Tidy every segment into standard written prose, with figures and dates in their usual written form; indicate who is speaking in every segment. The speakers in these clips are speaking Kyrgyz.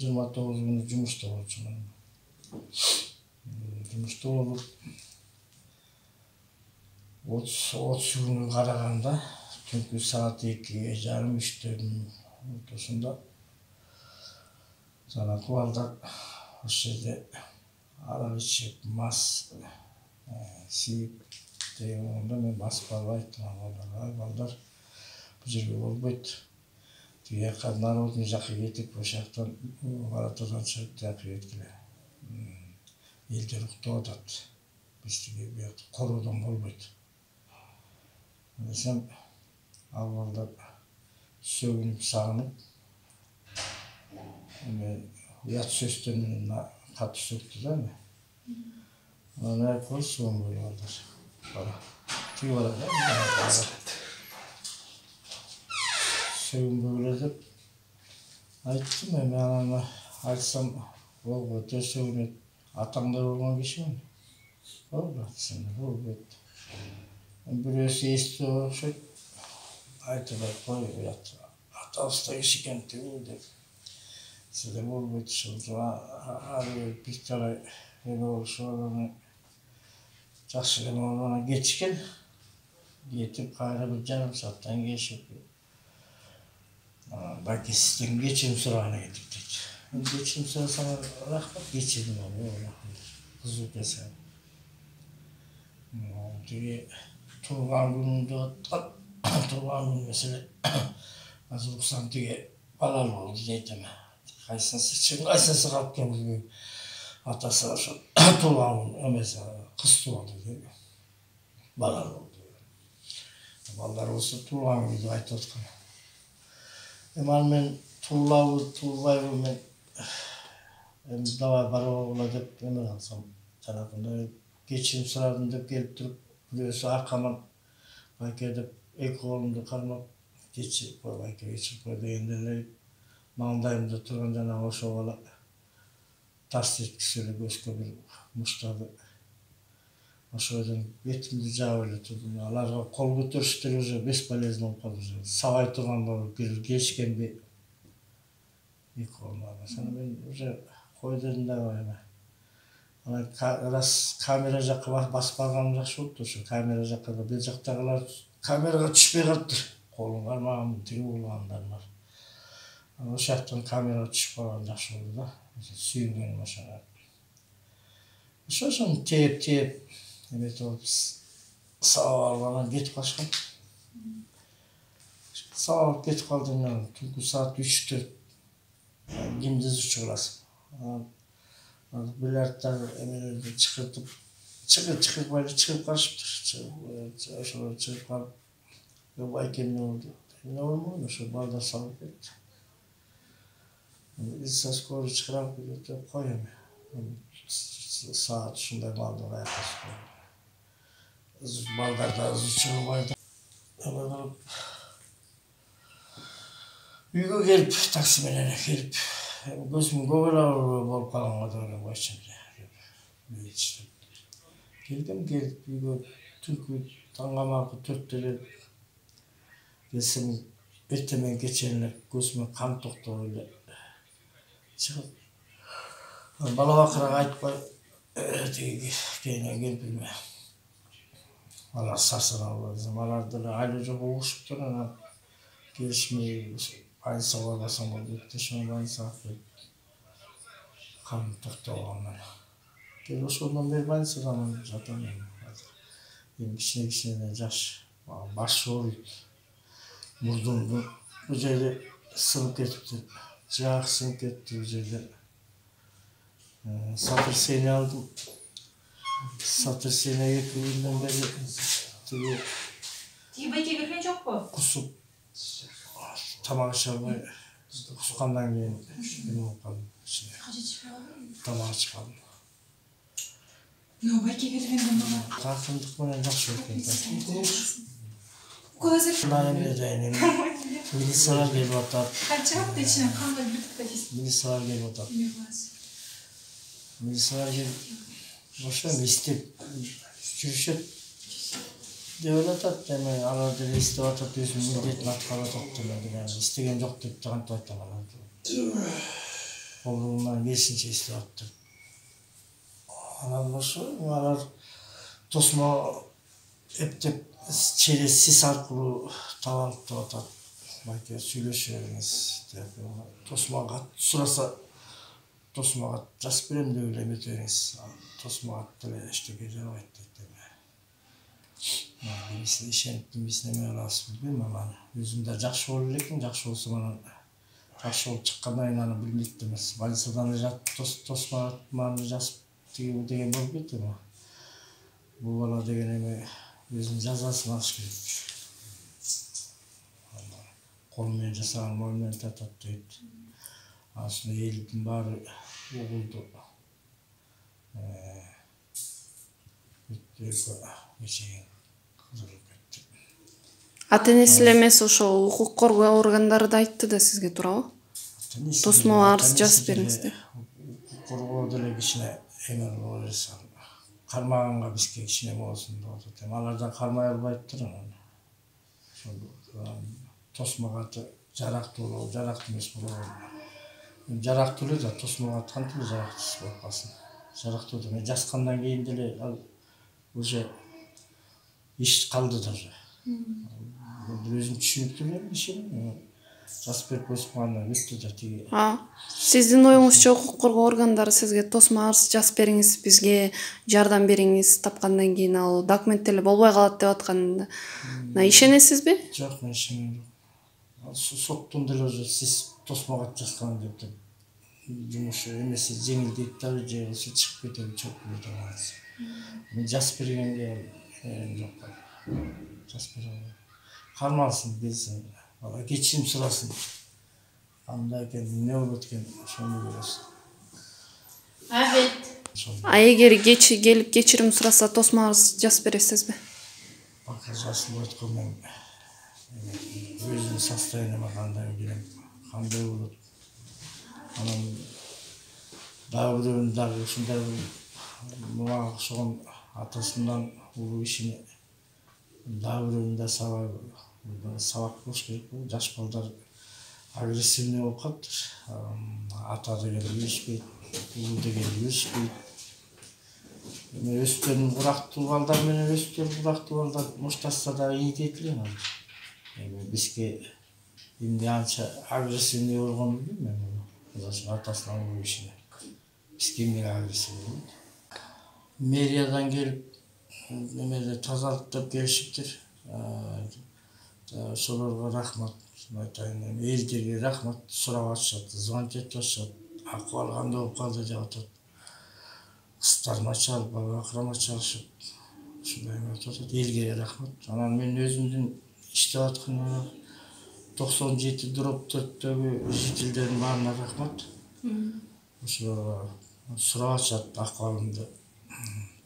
Speaker 1: 29 күнү жумушта болчумун. Жумушта болуп 30 күнү караганда түнкү саат 2:30-3 ортосунда жанагы балдар ошол жерде арак ичип, мас сийип дегенде мен басып барып айттым балдарга, балдар бул жерге болбойт. Тиги жака народный жакка кетип, ошол жактан воротодон чыгып тияка кеткиле. Элдер уктап атат. Биз тиги биякта короодон болбойт. Десем, ал балдар сөгүнүп сагынып, уят сөздөр менен катуу сөктү да эми. Анан айткыбыз сөгүнбөйлү балдар. Тиги барат да. Сөгүнбөйлү деп айттым, эми анан айтсам болбойт, сөгүнөт. Атаңдар болгон кишимин. Болбойт, десем, болбойт. Бирөөсү эстеп окшойт. Айтып кой, уят атабызда киши экен тигүү деп. Сизде болбойт ушул. Ары бир талай эме болушуп анан жакшы эле анан кетишкен. Кетип кайра бир жарым сааттан кийин балки сизден кечирим сураганы келдик дейт. Кечирим сурасаңар рахмат, кечирдим аны. Кызуу жасаган. Тиги туулган күнүмдү аткан, туулган күн маселе азыр уксам тиги балалуу болду дейт эми. Кайсынысы калып келген билбейм. Атасы ошо туулган күн эмеси кыз туулду дейт. Балалуу болду. Балдар болсо туулган күн деп айтып аткан. Эми аны мен туулабы, туулбайбы мен эми давай барабыла деп эме кылсам, жанагындай кечирим сурадым деп келип туруп, бирөөсү аркаман байке деп эки колумду кармап кечирип кой, байке кечирип кой дегенде эле маңдайымда турган жанагы ошол бала тарс эткисе эле көзгө бир муштады. Ошодон бетимди жаап эле турдум. Аларга кол көтөрүштөр уже бесполезно болуп калды. Сабай турганда келишкенби эки колумду. Анан мен уже кой дедим да эме. Анан раз камера жакка басып барганым жакшы болупту. Ошо камера жакка да бер жактагылар камерага түшпөй калыптыр. Колум кармаган, тиги болгондар бар. Анан ошол жактан камерага түшүп калган жакшы болду да. Сүйүнгөнүм ошого. Ошону тээп эметип алып сабап алып анан кетип калышкан. Сабап кетип калдым мен. Түнкү саат 3-4 кимди изучу кыласың. Бильярдтар эмелерди чакыртып, чыгып калышыптыр. Ошолор чыгып калып, байке эмне болду? Эмне болмогон, ошо балдар салып кетти. Со скорый чакырам деп кой эми. Саат ушундай балдар айкалышып. Балдар да изучу кылбайды. Эме кылып үйгө келип, такси менен келип, көзүм көп эле болуп калганга деп эле койчумун. Келдим, үйгө түнкү таңгамакы 4-тө эле келсем, эртең менен кечээ эле көзүмө кан токтобой эле чыгып, бала бакырага айтпай тиги кейинен келип алар сарсанаа десем, алар деле айла жолго угушуптур. Анан келишмей больницага барбасаң болбойт деп, ошо больницага алып келип кан токтобогондон келип ошондон бери больницада жатам эми. Эми кичине жаш, башы ооруйт, мурдумду бул жерде сынып кетиптир, жаак сынып кетти бул жерде. Сотрясение алдым. Сотрясение 2 күндөн бери тиги
Speaker 2: байке келген жокпу?
Speaker 1: Кусуп тамак ише албай, кускандан кийин эме болуп калдым. Тамак ичип калдым.
Speaker 2: Байке келгенден бала.
Speaker 1: Каркындык менен жакшы өткөн. Милициялар келип атат.
Speaker 2: Канча ичинен кандай бүтүп кетесиз?
Speaker 1: Милициялар келип атат. Милициялар келип ошо эстеп жүрүшөт деп атат. Эми алар деле эстеп атат, өзүнүн милдетин аткарып атат деп. Эстеген жок деп кантип айтам анан. колунан келишинче иштеп атты. Анан ошо алар тосмо эптеп через сис аркылуу таап алып деп атат. Байке сүйлөшүп бериңиз деп. Тосмага сураса тосмага жазып берем деп эле эмете бериңиз. Тосмага деле эчтеке жарабайт дейт. Кимисине ишенип, кимисине эме кылабыз билбейм анан. Өзүм да жакшы болуп элекмин, жакшы болсо анан жакшы болуп чыккандан кийин аны билмейт эмес. Больницадан жатып тосманы жазып деген болуп кетти. Бул бала деген эме өзүнүн жазасын алыш керек. Кол менен жасаган мол менен татат дейт. Ошондо элдин баары угулду.
Speaker 3: Ата-энеси эле эмес, ошо укук коргоо органдары да айтты да сизге, туурабы? Тосмо арыз жазып бериңиз деп.
Speaker 1: Укук коргоо деле кичине эме боло берсе, кармаганга бизге кичине болсун деп атат. Алар да кармай албайттыр анан. Тосмого жарактуу, жарактуу эмес болобу. Жарактуу эле да тосмого кантип жарактуу болуп калсын. Жарактуу деме жазгандан кийин деле ал уже иш калды даже. Өзүм түшүнүктүү элем ишин. Жазып берип койсуңар бүттү да тиги.
Speaker 3: Сиздин оюңузча укук коргоо органдары сизге тосмо арыз жазып бериңиз, бизге жардам бериңиз, тапкандан кийин ал документ деле болбой калат деп атканда ишенесизби?
Speaker 1: Жок, мен ишенем. Соттун деле уже сиз тосмого жазган деп жумушу эмеси жеңилдейт дагы же болсо чыгып кетеби, чыгып кетеби. Мен жазып бергенге жок. Жазып берем. Кармалсын, келсин. Бала кечирим сурасын. Кандай экен, эмне болот экен, ошону көрөсүн.
Speaker 3: Эгер келип кечирим сураса, тосмо арыз жазып бересизби?
Speaker 1: Пока жазылбайт го, мен өзүмдүн состояниеме кандай билем, кандай болот. Анан дагы бирөөнүн дагы ушундай мага окшогон атасынан улуу ишине дагы бирөөнүн да сабак болуш керек. Жаш балдар агрессивный болуп калыптыр. Ата деген үйүшпөйт, улуу деген үйүшпөйт. Өстөн бурактуу балдар менен өстөн бурактуу балдар мушташса да ийгейт эле азыр. Бизге эмне анча агрессивный болгонун билбейм мен. Атасынан улуу ишине. Бизге эмне агрессивный болот? Мэриядан келип эмеде тазалыктап келишиптир. Ошолорго рахмат айтайын. Элдерге рахмат сурап атышат, звонить этип атышат. Акыбал кандай болуп калды деп атат. Кыздарыма чалып, бабакырама чалышып, ушундай эме айтып атат. Элге рахмат. Анан мен өзүмдүн иштеп аткан 97 дробь 4-төгү жителдердин баарына рахмат. Ошолорго сурап атышат акыбалымды.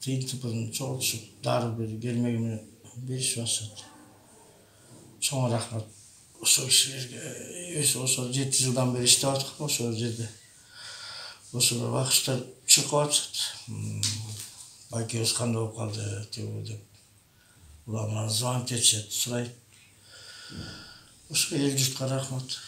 Speaker 1: Принципин чогултушуп, дары келмеги менен беришип атышат. Чоң рахмат ошол кишилерге. Ошо 7 жылдан бери иштеп аткам ошол жерде. Ошолор багыштап чыкып атышат. Байкебиз кандай болуп калды деп. Улам звонить этишет, сурайт. Ошо эл журтка рахмат.